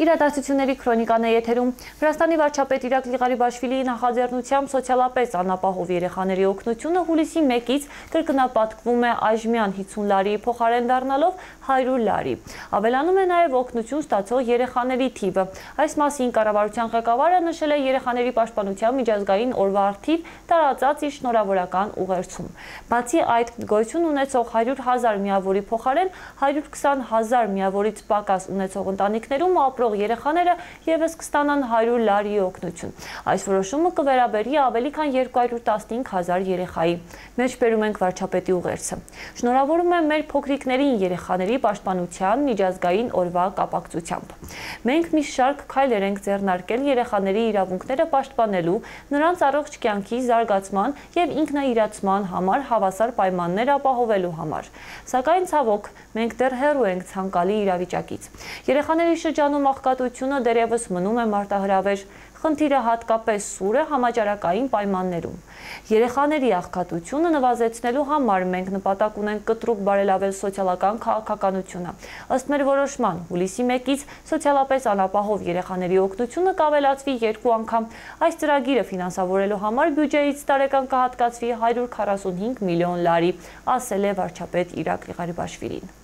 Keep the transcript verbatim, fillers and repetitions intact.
Իրադարձությունների քրոնիկան է եթերում։ Վրաստանի վարչապետ Իրակլի Ղարիբաշվիլիի նախաձեռնությամբ սոցիալապես անապահով երեխաների օգնությունը հուլիսի մեկից կրկնապատկվում է այժմյան հինգ լարի փոխարեն դառնալով հարյուր լարի։ Ավելանում է նաև օգնություն ստացող երեխաների թիվը։ Այս մասին կառավարության ղեկավարը նշել է երեխաների պաշտպանության միջազգային օրվա առթիվ տարածած իր շնորհավորական ուղերձում։ Բացի այդ, գոյություն ունեցող հարյուր հազար միավորի փոխարեն հարյուր քսան հազար միավորից պակաս ունեցող ընտանիքներում ապրող երեխաները ևս կստանան հարյուր լարի օգնություն։ Այս որոշումը կվերաբերի ավելի քան երկու հարյուր տասնհինգ հազար երեխայի։ Մեջբերում ենք վարչապետի ուղերձը։ Շնորհավորում եմ մեր փոքրիկներին երեխաների պաշտպանության միջազգային օրվա կապակցությամբ։ Մենք մի շարք քայլեր ենք ձեռնարկել երեխաների իրավունքները պաշտպանելու, նրանց առողջ կյանքի զարգացման եւ ինքնաիրացման համար հավասար պայմաններ ապահովելու համար։ Սակայն ցավոք, մենք դեռ հեռու ենք ցանկալի իրավիճակից։ Երեխաների շրջանում աղքատությունը դեռևս մնում է մարտահրավեր, խնդիրը հատկապես սուր է համաճարակային պայմաններում։ Երեխաների աղքատությունը նվազեցնելու համար մենք նպատակ ունենք կտրուկ բարելավել սոցիալական քաղաքականությունը։ Ըստ մեր որոշման, հուլիսի մեկից սոցիալապես անապահով երեխաների օգնությունը կավելացվի երկու անգամ։ Այս ծրագիրը ֆինանսավորելու համար բյուջեից տարեկան կհատկացվի հարյուր քառասունհինգ միլիոն լարի, ասել է վարչապետ Իրակլի Ղարիբաշվիլին։